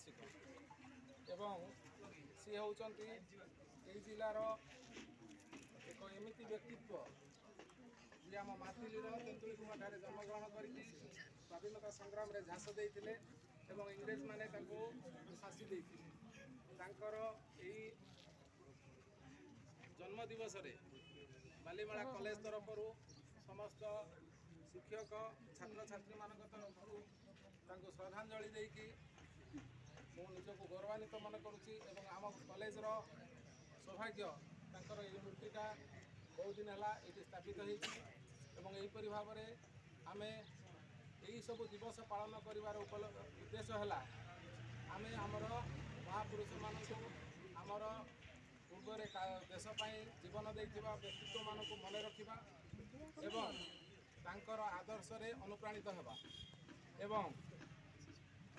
ଜନ୍ମବାର୍ଷିକ ଏବଂ ସିଏ ହେଉଛନ୍ତି ଏଇ ଜିଲ୍ଲାର ଏକ ଏମିତି ବ୍ୟକ୍ତିତ୍ୱ ଯିଏ ଆମ ମାଥିଲି ତେନ୍ତୁଳିଖୁମ୍ବାଠାରେ ଜନ୍ମଗ୍ରହଣ କରିକି ସ୍ୱାଧୀନତା ସଂଗ୍ରାମରେ ଝାସ ଦେଇଥିଲେ ଏବଂ ଇଂରେଜମାନେ ତାଙ୍କୁ ଫାଶୀ ଦେଇଥିଲେ। ତାଙ୍କର ଏଇ ଜନ୍ମ ଦିବସରେ ବାଲିମେଳା କଲେଜ ତରଫରୁ ସମସ୍ତ ଶିକ୍ଷକ ଛାତ୍ରଛାତ୍ରୀମାନଙ୍କ ତରଫରୁ ତାଙ୍କୁ ଶ୍ରଦ୍ଧାଞ୍ଜଳି ଦେଇକି ମୁଁ ନିଜକୁ ଗୌରବାନ୍ୱିତ ମନେ କରୁଛି ଏବଂ ଆମ କଲେଜର ସୌଭାଗ୍ୟ ତାଙ୍କର ଏଇ ମୂର୍ତ୍ତିଟା ବହୁତ ଦିନ ହେଲା ଏଇଠି ସ୍ଥାପିତ ହେଇଛି ଏବଂ ଏହିପରି ଭାବରେ ଆମେ ଏହିସବୁ ଦିବସ ପାଳନ କରିବାର ଉଦ୍ଦେଶ୍ୟ ହେଲା ଆମେ ଆମର ମହାପୁରୁଷମାନଙ୍କୁ, ଆମର ପୂର୍ବରେ ଦେଶ ପାଇଁ ଜୀବନ ଦେଇଥିବା ବ୍ୟକ୍ତିତ୍ୱମାନଙ୍କୁ ମନେ ରଖିବା ଏବଂ ତାଙ୍କର ଆଦର୍ଶରେ ଅନୁପ୍ରାଣିତ ହେବା। ଏବଂ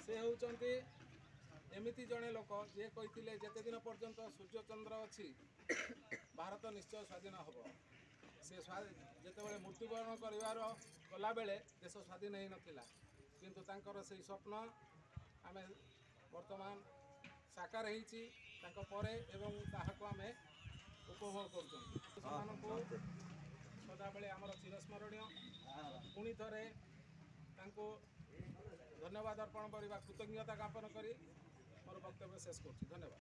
ସେ ହେଉଛନ୍ତି ଏମିତି ଜଣେ ଲୋକ ଯିଏ କହିଥିଲେ ଯେତେ ଦିନ ପର୍ଯ୍ୟନ୍ତ ସୂର୍ଯ୍ୟଚନ୍ଦ୍ର ଅଛି ଭାରତ ନିଶ୍ଚୟ ସ୍ୱାଧୀନ ହେବ। ସେ ଯେତେବେଳେ ମୃତ୍ୟୁବରଣ କରିବାର କଲାବେଳେ ଦେଶ ସ୍ୱାଧୀନ ହେଇନଥିଲା, କିନ୍ତୁ ତାଙ୍କର ସେଇ ସ୍ୱପ୍ନ ଆମେ ବର୍ତ୍ତମାନ ସାକାର ହେଇଛି ତାଙ୍କ ପରେ ଏବଂ ତାହାକୁ ଆମେ ଉପଭୋଗ କରୁଛନ୍ତି। ସେମାନଙ୍କୁ ସଦାବେଳେ ଆମର ଚିରସ୍ମରଣୀୟ। ପୁଣି ଥରେ ତାଙ୍କୁ ଧନ୍ୟବାଦ ଅର୍ପଣ କରିବା, କୃତଜ୍ଞତା ଜ୍ଞାପନ କରି ମୋର ବକ୍ତବ୍ୟ ଶେଷ କରୁଛି। ଧନ୍ୟବାଦ।